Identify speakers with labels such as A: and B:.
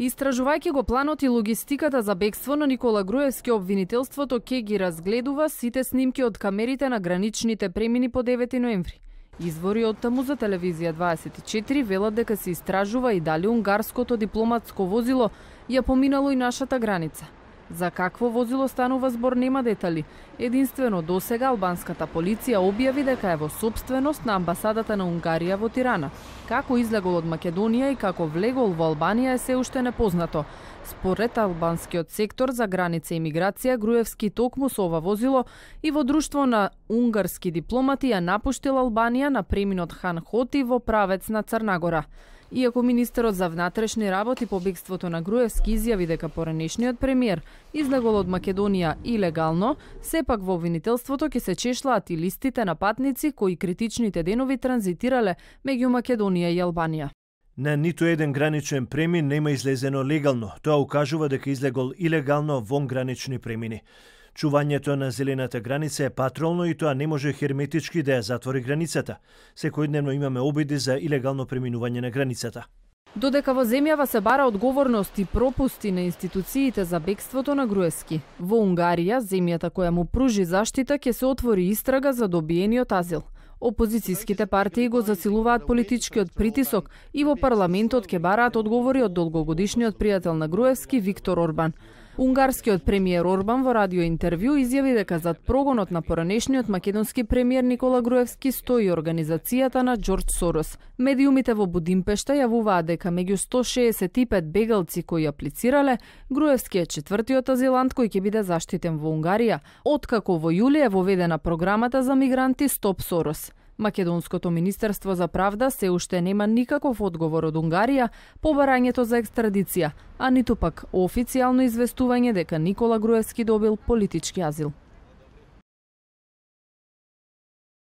A: Истражувајќи го планот и логистиката за бегство на Никола Груевски, обвинителството ќе ги разгледува сите снимки од камерите на граничните премини по 9 ноември. Извори од таму за телевизија 24 велат дека се истражува и дали унгарското дипломатско возило ја поминало и нашата граница. За какво возило станува збор нема детали. Единствено досега албанската полиција објави дека е во сопственост на амбасадата на Унгарија во Тирана. Како излегол од Македонија и како влегол во Албанија е се уште непознато. Според албанскиот сектор за граница и миграција, Груевски токму со ова возило и во друштво на унгарски дипломати ја напуштил Албанија на преминот Хан Хоти во правец на Црнагора. Иако министерот за внатрешни работи по бегството на Груевски изјави дека поранешниот премиер излегол од Македонија илегално, сепак во обвинителството ќе се чешлаат и листите на патници кои критичните денови транзитирале меѓу Македонија и Албанија.
B: На ниту еден граничен премин нема излезено легално. Тоа укажува дека излегол илегално вон гранични премини. Чувањето на зелената граница е патролно и тоа не може херметички да ја затвори границата. Секојдневно имаме обиди за илегално преминување на границата.
A: Додека во земјава се бара одговорност и пропусти на институциите за бегството на Груевски, во Унгарија, земјата која му пружи заштита, ќе се отвори истрага за добиениот азил. Опозицијските партии го засилуваат политичкиот притисок и во парламентот ќе бараат одговори од долгогодишниот пријател на Груевски Виктор Орбан. Унгарскиот премиер Орбан во радиоинтервју изјави дека зад прогонот на поранешниот македонски премиер Никола Груевски стои организацијата на Џорџ Сорос. Медиумите во Будимпешта јавуваат дека меѓу 165 бегалци кои аплицирале, Груевски е четвртиот азилант кој ќе биде заштитен во Унгарија, откако во јули е воведена програмата за мигранти Стоп Сорос. Македонското министерство за правда се уште нема никаков одговор од Унгарија по барањето за екстрадиција, а ниту пак официјално известување дека Никола Груевски добил политички азил.